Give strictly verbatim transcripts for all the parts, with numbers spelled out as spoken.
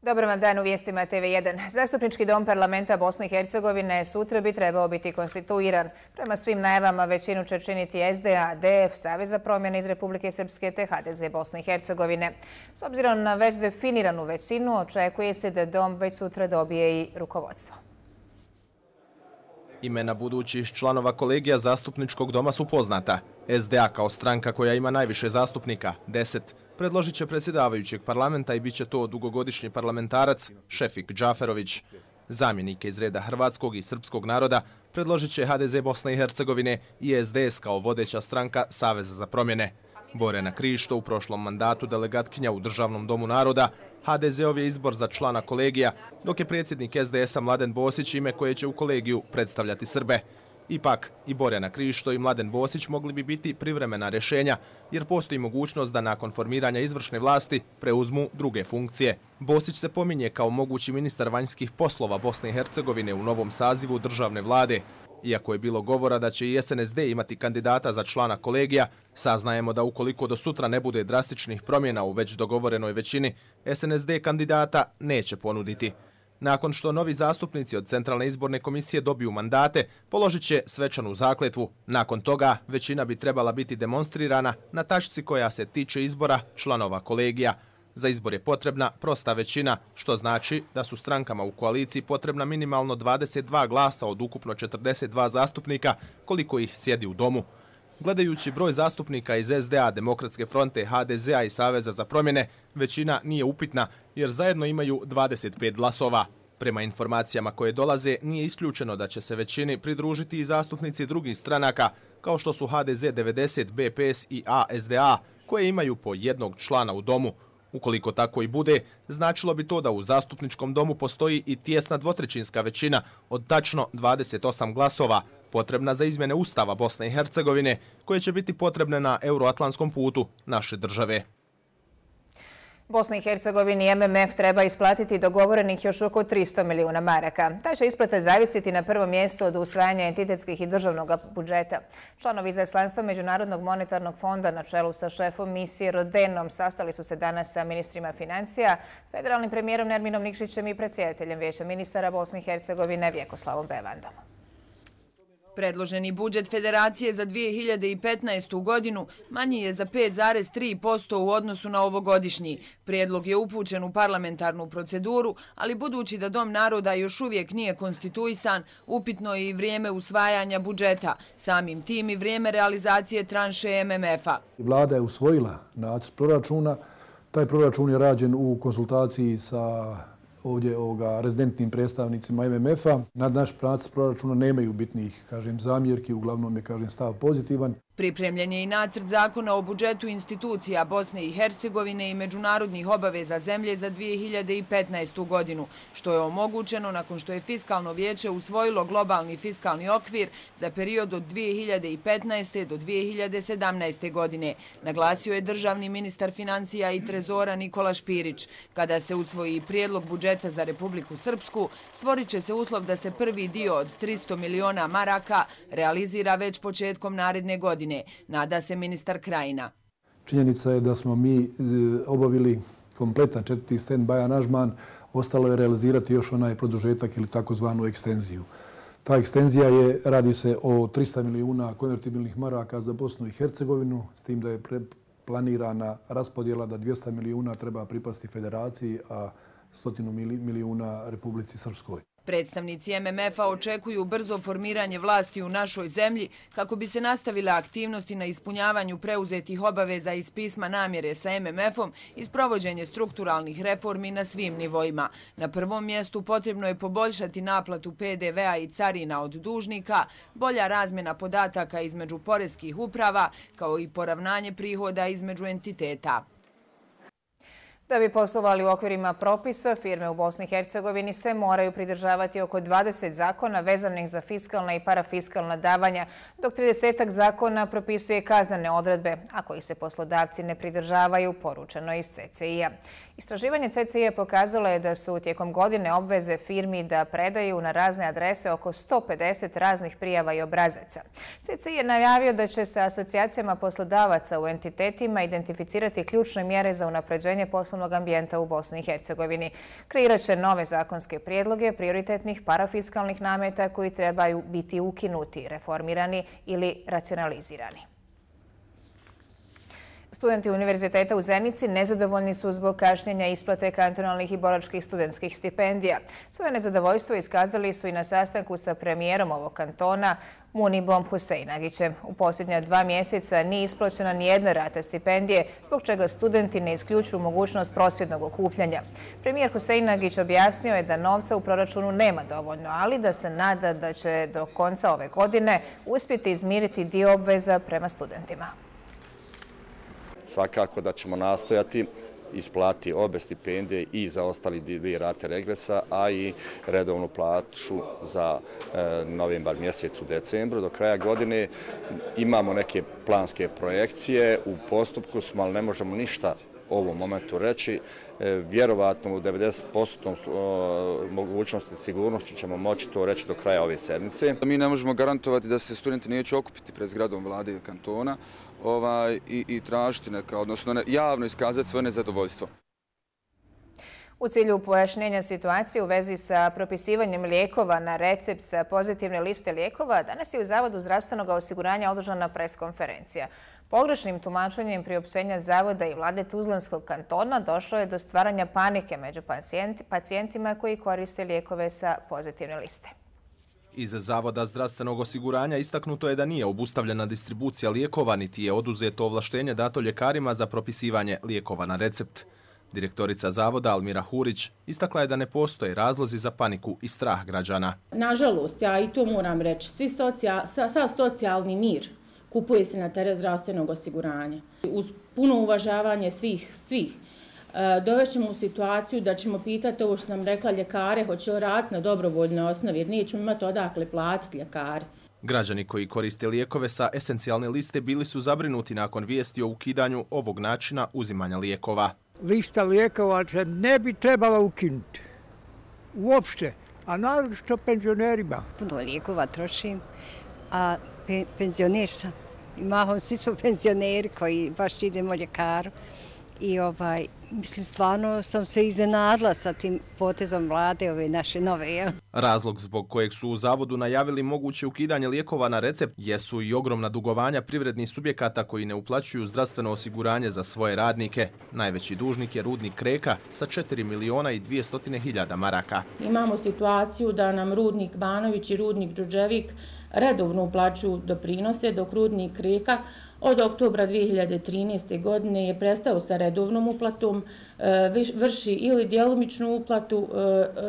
Dobar vam dan u vijestima T V jedan. Zastupnički dom parlamenta Bosne i Hercegovine sutra bi trebao biti konstituiran. Prema svim najavama većinu će činiti S D A, D F, Savez za promjene iz Republike Srpske te H D Z Bosne i Hercegovine. S obzirom na već definiranu većinu, očekuje se da dom već sutra dobije i rukovodstvo. Imena budućih članova kolegija zastupničkog doma su poznata. S D A kao stranka koja ima najviše zastupnika, deset, predložit će predsjedavajućeg parlamenta i bit će to dugogodišnji parlamentarac Šefik Džaferović. Zamjenike iz reda hrvatskog i srpskog naroda predložit će H D Z Bosne i Hercegovine i S D S kao vodeća stranka Saveza za promjene. Borjana Krišto, u prošlom mandatu delegatkinja u Državnom domu naroda, H D Z-ov je izbor za člana kolegija, dok je predsjednik S D S-a Mladen Bosić ime koje će u kolegiju predstavljati Srbe. Ipak, i Borjana Krišto i Mladen Bosić mogli bi biti privremena rješenja, jer postoji mogućnost da nakon formiranja izvršne vlasti preuzmu druge funkcije. Bosić se pominje kao mogući ministar vanjskih poslova Bosne i Hercegovine u novom sazivu državne vlade. Iako je bilo govora da će i S N S D imati kandidata za člana kolegija, saznajemo da ukoliko do sutra ne bude drastičnih promjena u već dogovorenoj većini, S N S D kandidata neće ponuditi. Nakon što novi zastupnici od Centralne izborne komisije dobiju mandate, položit će svečanu zakletvu. Nakon toga većina bi trebala biti demonstrirana na tačci koja se tiče izbora članova kolegija. Za izbor je potrebna prosta većina, što znači da su strankama u koaliciji potrebna minimalno dvadeset dva glasa od ukupno četrdeset dva zastupnika, koliko ih sjedi u domu. Gledajući broj zastupnika iz S D A, Demokratske fronte, H D Z-a i Saveza za promjene, većina nije upitna jer zajedno imaju dvadeset pet glasova. Prema informacijama koje dolaze, nije isključeno da će se većini pridružiti i zastupnici drugih stranaka, kao što su H D Z devedeset, B P S i A S D A, koje imaju po jednog člana u domu. Ukoliko tako i bude, značilo bi to da u zastupničkom domu postoji i tijesna dvotrećinska većina od tačno dvadeset osam glasova, potrebna za izmjene Ustava Bosne i Hercegovine, koje će biti potrebne na euroatlantskom putu naše države. Bosni i Hercegovini M M F treba isplatiti dogovorenih još oko tristo milijuna maraka. Ta će isplata zavisiti na prvo mjesto od usvajanja entitetskih i državnog budžeta. Članovi izaslanstva Međunarodnog monetarnog fonda na čelu sa šefom misije Rodenom sastali su se danas sa ministrima financija, federalnim premijerom Nerminom Nikšićem i predsjedateljem Vijeća ministara Bosne i Hercegovine Vjekoslavom Bevandom. Predloženi budžet Federacije za dvije hiljade petnaestu. godinu manji je za pet zarez tri posto u odnosu na ovogodišnji. Prijedlog je upućen u parlamentarnu proceduru, ali budući da Dom naroda još uvijek nije konstituisan, upitno je i vrijeme usvajanja budžeta, samim tim i vrijeme realizacije tranše M M F-a. Vlada je usvojila nacrt proračuna. Taj proračun je rađen u konsultaciji sa ovdje ovoga rezidentnim predstavnicima M M F-a. Na naš nacrt proračuna nemaju bitnih, kažem, zamjerki, uglavnom je, kažem, stav pozitivan. Pripremljen je i nacrt zakona o budžetu institucija Bosne i Hercegovine i međunarodnih obaveza zemlje za dvije hiljade petnaestu. godinu, što je omogućeno nakon što je Fiskalno vijeće usvojilo globalni fiskalni okvir za period od dvije hiljade petnaeste. do dvije hiljade sedamnaeste. godine, naglasio je državni ministar financija i trezora Nikola Špirić. Kada se usvoji prijedlog budžeta za Republiku Srpsku, stvorit će se uslov da se prvi dio od tristo miliona maraka realizira već početkom naredne godine. Nada se ministar Krajina. Činjenica je da smo mi obavili kompletan četvrti stand-by aranžman, ostalo je realizirati još onaj produžetak ili takozvanu ekstenziju. Ta ekstenzija je, radi se o trista milijuna konvertibilnih maraka za Bosnu i Hercegovinu, s tim da je planirana raspodjela da dvjesto milijuna treba pripasti Federaciji, a stotinu milijuna Republici Srpskoj. Predstavnici M M F-a očekuju brzo formiranje vlasti u našoj zemlji kako bi se nastavile aktivnosti na ispunjavanju preuzetih obaveza iz pisma namjere sa M M F-om i sprovođenje strukturalnih reformi na svim nivoima. Na prvom mjestu potrebno je poboljšati naplatu P D V-a i carina od dužnika, bolja razmjena podataka između poreskih uprava, kao i poravnanje prihoda između entiteta. Da bi poslovali u okvirima propisa, firme u Bosni i Hercegovini se moraju pridržavati oko dvadeset zakona vezanih za fiskalna i parafiskalna davanja, dok tridesetak zakona propisuje kaznene odredbe, a koji se poslodavci ne pridržavaju, poručeno iz C C I-a. Istraživanje C C I pokazalo je da su tijekom godine obveze firmi da predaju na razne adrese oko sto pedeset raznih prijava i obrazaca. C C I je najavio da će sa asocijacijama poslodavaca u entitetima identificirati ključne mjere za unapređenje poslovnog ambijenta u Bosni i Hercegovini. Kreirat će nove zakonske prijedloge prioritetnih parafiskalnih nameta koji trebaju biti ukinuti, reformirani ili racionalizirani. Studenti Univerziteta u Zenici nezadovoljni su zbog kašnjenja isplate kantonalnih i boračkih studentskih stipendija. Svoje nezadovoljstvo iskazali su i na sastanku sa premijerom ovog kantona, Munibom Huseinagićem. U posljednja dva mjeseca nije isplaćena nijedna rata stipendije, zbog čega studenti ne isključuju mogućnost prosvjednog okupljanja. Premijer Huseinagić objasnio je da novca u proračunu nema dovoljno, ali da se nada da će do konca ove godine uspjeti izmiriti dio obveza prema studentima. Svakako da ćemo nastojati isplati obe stipendije i za ostali dvije rate regresa, a i redovnu plaću za e, novembar mjesec u decembru. Do kraja godine imamo neke planske projekcije, u postupku smo, ali ne možemo ništa u ovom momentu reći. E, vjerovatno u devedeset posto mogućnosti sigurnosti ćemo moći to reći do kraja ove sedmice. Mi ne možemo garantovati da se studenti neće okupiti pred zgradom vlade i kantona ovaj, i, i tražiti neka, odnosno ne, javno iskazati svoje nezadovoljstvo. U cilju pojašnjenja situacije u vezi sa propisivanjem lijekova na recept sa pozitivne liste lijekova, danas je u Zavodu zdravstvenog osiguranja održana preskonferencija. Pogrešnim tumačenjem priopćenja Zavoda i vlade Tuzlanskog kantona došlo je do stvaranja panike među pacijentima koji koriste lijekove sa pozitivne liste. Iz Zavoda zdravstvenog osiguranja istaknuto je da nije obustavljena distribucija lijekova, niti je oduzeto ovlaštenje dato ljekarima za propisivanje lijekova na recept. Direktorica Zavoda Almira Hurić istakla je da ne postoje razlozi za paniku i strah građana. Nažalost, ja i to moram reći, svi socijal, sav socijalni mir kupuje se na teret zdravstvenog osiguranja. Uz puno uvažavanje svih, svih, dovećemo u situaciju da ćemo pitati ovo što sam rekla ljekare, hoće li raditi na dobrovoljnoj osnovi, jer nećemo imati odakle platiti ljekare. Građani koji koriste lijekove sa esencijalne liste bili su zabrinuti nakon vijesti o ukidanju ovog načina uzimanja lijekova. Lista lijekova se ne bi trebala ukinuti. Uopšte, a naročito penzionerima. Puno lijekova trošim, a pe, penzioner sam. I mahom svi smo penzioneri koji baš idemo ljekaru. I ovaj, mislim, stvarno sam se iznenadila sa tim potezom vlade ove naše nove. Jel? Razlog zbog kojeg su u Zavodu najavili moguće ukidanje lijekova na recept jesu i ogromna dugovanja privrednih subjekata koji ne uplaćuju zdravstveno osiguranje za svoje radnike. Najveći dužnik je rudnik Kreka sa četiri miliona i dvjesto hiljada maraka. Imamo situaciju da nam rudnik Banović i rudnik Đurđevik redovno uplaćuju doprinose, dok rudnik Kreka od oktobra dvije hiljade trinaeste. godine je prestao sa redovnom uplatom, vrši ili djelomičnu uplatu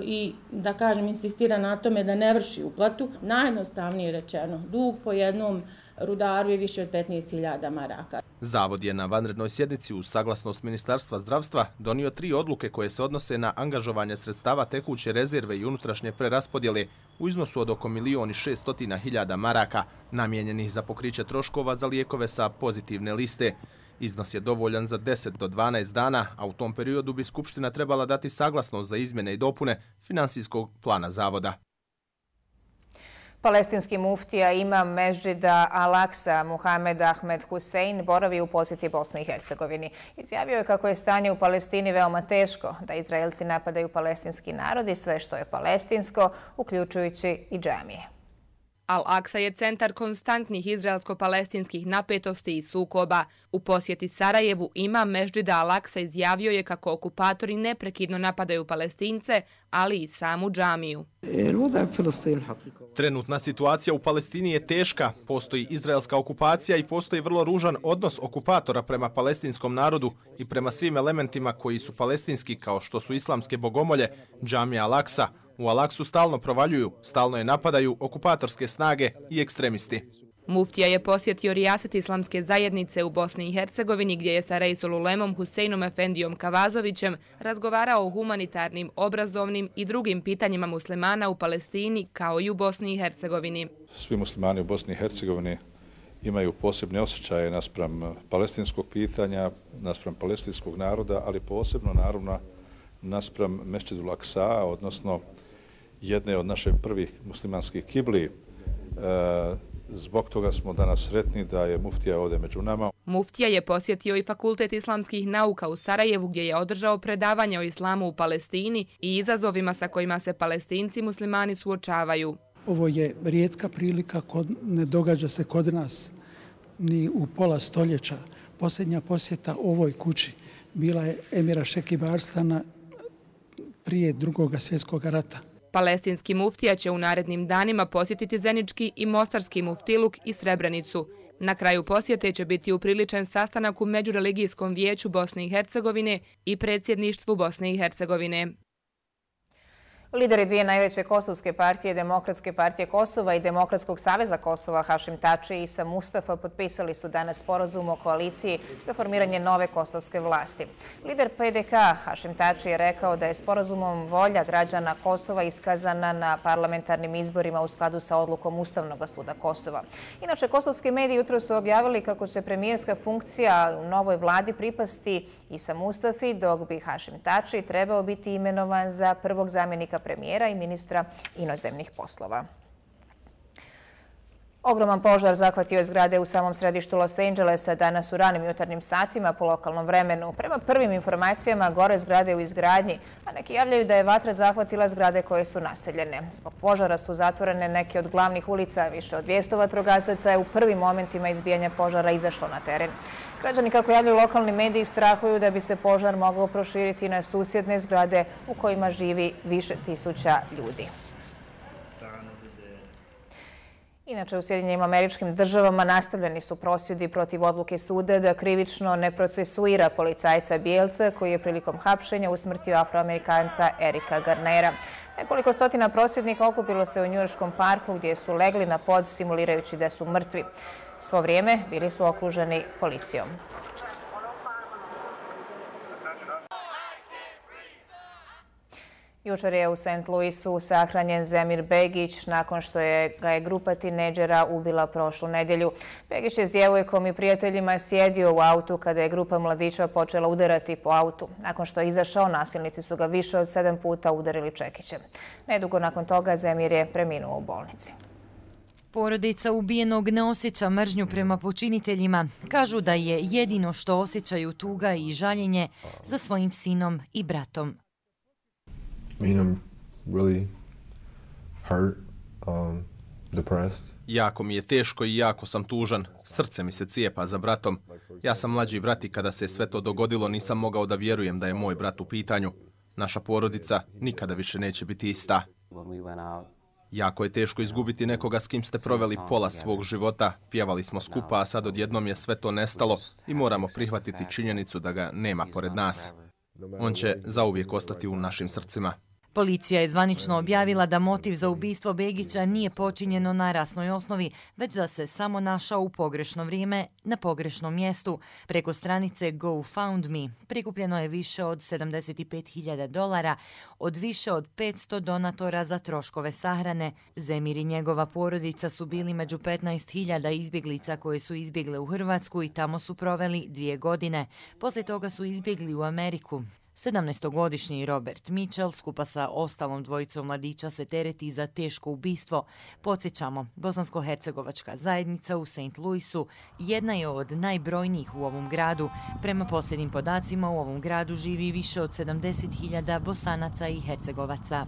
i, da kažem, insistira na tome da ne vrši uplatu. Najjednostavnije rečeno, dug po jednom rudaru je više od petnaest hiljada maraka. Zavod je na vanrednoj sjednici uz saglasnost Ministarstva zdravstva donio tri odluke koje se odnose na angažovanje sredstava tekuće rezerve i unutrašnje preraspodjele u iznosu od oko milijon i šeststotina hiljada maraka, namijenjenih za pokriće troškova za lijekove sa pozitivne liste. Iznos je dovoljan za deset do dvanaest dana, a u tom periodu bi Skupština trebala dati saglasnost za izmjene i dopune finansijskog plana Zavoda. Palestinski muftija imam Mežđida Al-Aksa Muhamed Ahmed Husein boravi u posjeti Bosni i Hercegovini. Izjavio je kako je stanje u Palestini veoma teško, da Izraelci napadaju palestinski narod i sve što je palestinsko, uključujući i džamije. Al-Aksa je centar konstantnih izraelsko-palestinskih napetosti i sukoba. U posjeti Sarajevu imam Mežđida Al-Aksa izjavio je kako okupatori neprekidno napadaju Palestince, ali i samu džamiju. Trenutna situacija u Palestini je teška. Postoji izraelska okupacija i postoji vrlo ružan odnos okupatora prema palestinskom narodu i prema svim elementima koji su palestinski, kao što su islamske bogomolje, džamija Al-Aksa. U Al-Aksu stalno provaljuju, stalno je napadaju okupatorske snage i ekstremisti. Muftija je posjetio rijaset islamske zajednice u Bosni i Hercegovini, gdje je sa Reisul Ulemom Huseinom Efendijom Kavazovićem razgovarao o humanitarnim, obrazovnim i drugim pitanjima muslimana u Palestini, kao i u Bosni i Hercegovini. Svi muslimani u Bosni i Hercegovini imaju posebne osjećaje naspram palestinskog pitanja, naspram palestinskog naroda, ali posebno naravno naspram Mesdžidul Aksa, odnosno jedne od naših prvih muslimanskih kibli. Zbog toga smo danas sretni da je muftija ovdje među nama. Muftija je posjetio i Fakultet islamskih nauka u Sarajevu gdje je održao predavanje o islamu u Palestini i izazovima sa kojima se Palestinci muslimani suočavaju. Ovo je rijetka prilika, ne događa se kod nas ni u pola stoljeća. Posljednja posjeta ovoj kući bila je emira Šekib Arslana prije drugog svjetskog rata. Palestinski muftija će u narednim danima posjetiti Zenički i Mostarski muftiluk i Srebrenicu. Na kraju posjete će biti upriličen sastanak u Međureligijskom vijeću Bosne i Hercegovine i predsjedništvu Bosne i Hercegovine. Lideri dvije najveće kosovske partije, Demokratske partije Kosova i Demokratskog saveza Kosova, Hašim Tači i Isa Mustafa, potpisali su danas sporazum o koaliciji za formiranje nove kosovske vlasti. Lider P D K Hašim Tači je rekao da je sporazumom volja građana Kosova iskazana na parlamentarnim izborima u skladu sa odlukom Ustavnog suda Kosova. Inače, kosovski mediji jutro su objavili kako će premijerska funkcija u novoj vladi pripasti Isa Mustafi, dok bi Hašim Tači trebao biti imenovan za prvog zamjenika premijera i ministra inozemnih poslova. Ogroman požar zahvatio je zgrade u samom središtu Los Angelesa danas u ranim jutarnjim satima po lokalnom vremenu. Prema prvim informacijama, gore zgrade u izgradnji, a neki javljaju da je vatra zahvatila zgrade koje su naseljene. Zbog požara su zatvorene neke od glavnih ulica. Više od dvjesto vatrogasaca je u prvim momentima izbijanja požara izašlo na teren. Građani, kako javljaju lokalni mediji, strahuju da bi se požar mogao proširiti na susjedne zgrade u kojima živi više tisuća ljudi. Inače, u Sjedinjenim Američkim Državama nastavljeni su prosvjedi protiv odluke suda da krivično ne procesuira policajca bijelca koji je prilikom hapšenja usmrtio Afroamerikanca Erika Garnera. Nekoliko stotina prosvjednika okupilo se u Njujorškom parku gdje su legli na pod simulirajući da su mrtvi. Svo vrijeme bili su okruženi policijom. Jučer je u Saint Louisu sahranjen Zemir Begić nakon što je ga je grupa tinejdžera ubila prošlu nedjelju. Begić je s djevojkom i prijateljima sjedio u autu kada je grupa mladića počela udarati po autu. Nakon što je izašao, nasilnici su ga više od sedam puta udarili čekićem. Nedugo nakon toga Zemir je preminuo u bolnici. Porodica ubijenog ne osjeća mržnju prema počiniteljima. Kažu da je jedino što osjećaju tuga i žaljenje za svojim sinom i bratom. I mean, I'm really hurt, um, depressed. Jako mi je teško i jako sam tužan. Srce mi se cijepa za bratom. Ja sam mlađi brat i kada se sve to dogodilo nisam mogao da vjerujem da je moj brat u pitanju. Naša porodica nikada više neće biti ista. Jako je teško izgubiti nekoga s kim ste proveli pola svog života. Pjevali smo skupa, a sad odjednom je sve to nestalo i moramo prihvatiti činjenicu da ga nema pored nas. On će zauvijek ostati u našim srcima. Policija je zvanično objavila da motiv za ubistvo Begića nije počinjeno na rasnoj osnovi, već da se samo našao u pogrešno vrijeme na pogrešnom mjestu. Preko stranice GoFundMe prikupljeno je više od sedamdeset pet hiljada dolara od više od petsto donatora za troškove sahrane. Zemir i njegova porodica su bili među petnaest hiljada izbjeglica koje su izbjegle u Hrvatsku i tamo su proveli dvije godine. Poslije toga su izbjegli u Ameriku. sedamnaestogodišnji Robert Mitchell skupa sa ostalom dvojicom mladića se tereti za teško ubistvo. Podsjećamo, bosansko-hercegovačka zajednica u Saint Louisu jedna je od najbrojnijih u ovom gradu. Prema posljednjim podacima u ovom gradu živi više od sedamdeset hiljada Bosanaca i Hercegovaca.